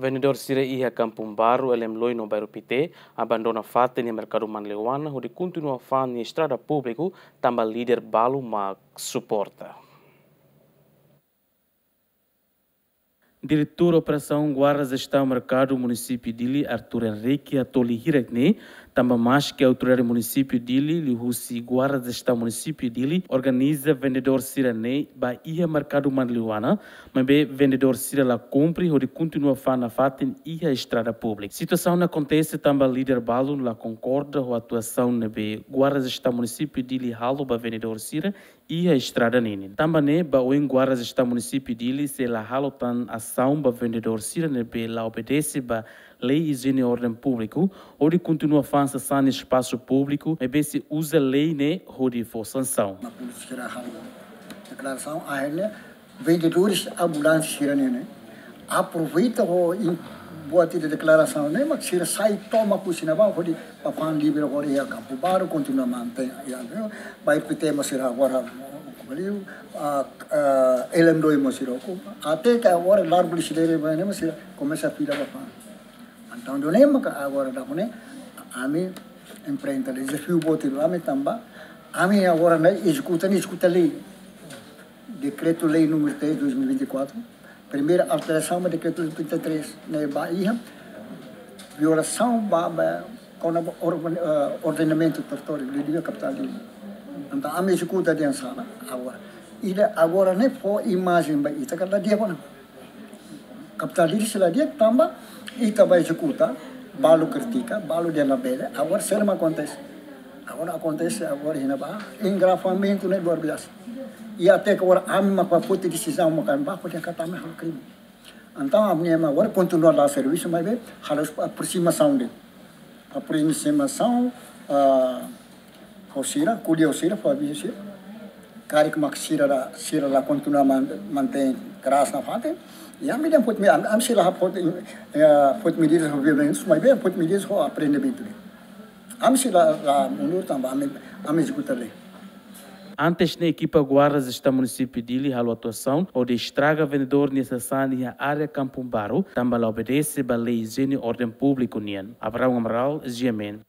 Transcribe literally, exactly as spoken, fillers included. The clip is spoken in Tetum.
Vendedór sira iha Kampung Baru, Elem Loi no Bairru Pite abandona fatin iha Merkadu Manleuana hodi kontinua fa'an nia estrada públiku tanba líder balu mak suporta. Diretór Operasaun Guardas Estaun Merkadu Munisípiu Dili, Arthur Henrique, hato'o hirak ne'e, tanba maski autoridade Munisípiu Dili liuhusi Guardas Estaun Munisípiu Dili organiza vendedór sira-ne'e ba iha Merkadu Manleuana, maibé vendedór sira la kumpre hodi kontinua fa'an nafatin iha estrada públiku. Situasaun ne'e akontese tanba líder balu la konkorda ho atuasaun ne'ebé Guardas Estaun Munisípiu Dili halo ba vendedór sira iha estrada ninin. Tanba ne'e, ba oin Guardas Estaun Munisípiu Dili sei la halo tan asaun ba vendedór sira ne'ebé la obedese ba lei ijiene orden públiku, hodi kontinua fa'an sasán iha espasu públiku, maibé sei uza lei ne'e hodi fó sansaun. Mak polísia sira halo deklarasaun, akhirnya vendedores ambulantes sira-ne'e, ne'e aproveita ho in-, buat ida deklarasaun ne'e, mak sira sai tomak husi ne'ebá hodi ba fa'an livre hodi iha Kampung Baru, kontinua mantein, iha, Bairru Pite mós sira agora, baliu, ah, ah, Elem Loi mós sira, até ke agora Largo Lecidere ne'e mós sira komesa fila ba fa'an. Entaun, ida-ne'e maka agora daudaun ne'e, ami enfrenta dezafiu boot ida, ami tanba, ami agora ne'e ezekuta, ne'e ezekuta lei. Dekretu-Lei número três, dois mil e vinte e quatro, primeira alterasaun ba Dekretu-Lei trinta e três, ne'e ba iha violasaun ba, ba, kona-ba or-, eh, ordenamentu territóriu, lei de kapitál Dili. Entaun, ami ezekuta dehan sala, agora. Ida agora ne'e fó imajen ba ita katak la di'ak ona. Kapitál Dili sei la di'ak tanba ita ba ezekuta, balu kritika, balu dehan labele, agora saida mak akontese. Agora akontese, agora iha ne'ebá, engarrafamentu ne'e luar biasa. I até ke agora ami mak ba foti desizaun mak ami ba foti katak ami halo krime. Entaun, ami ema agora kontinua la servisu, maibé halo aproximasaun de'it. Aproximasaun, ah, ho sira, ko'alia ho sira, fó avizu sira. Karik mak sira la, sira la kontinua man-, mantein keras nafatin. I ami dehan foti me-, ami, ami sei la foti, eh, foti medidas ho violénsia, maibé foti medidas ho aprendimentu de'it. Ami sei la, la mundur tanba ami, ami ezekuta lei. Antes ne'e, ekipa Guardas Estaun Munisípiu Dili halo atuasaun hodi estraga vendedór nia sasán iha área Kampung Baru, tanba la obedese ba lei ijiene orden públiku nian. Abraão Amaral, G M N.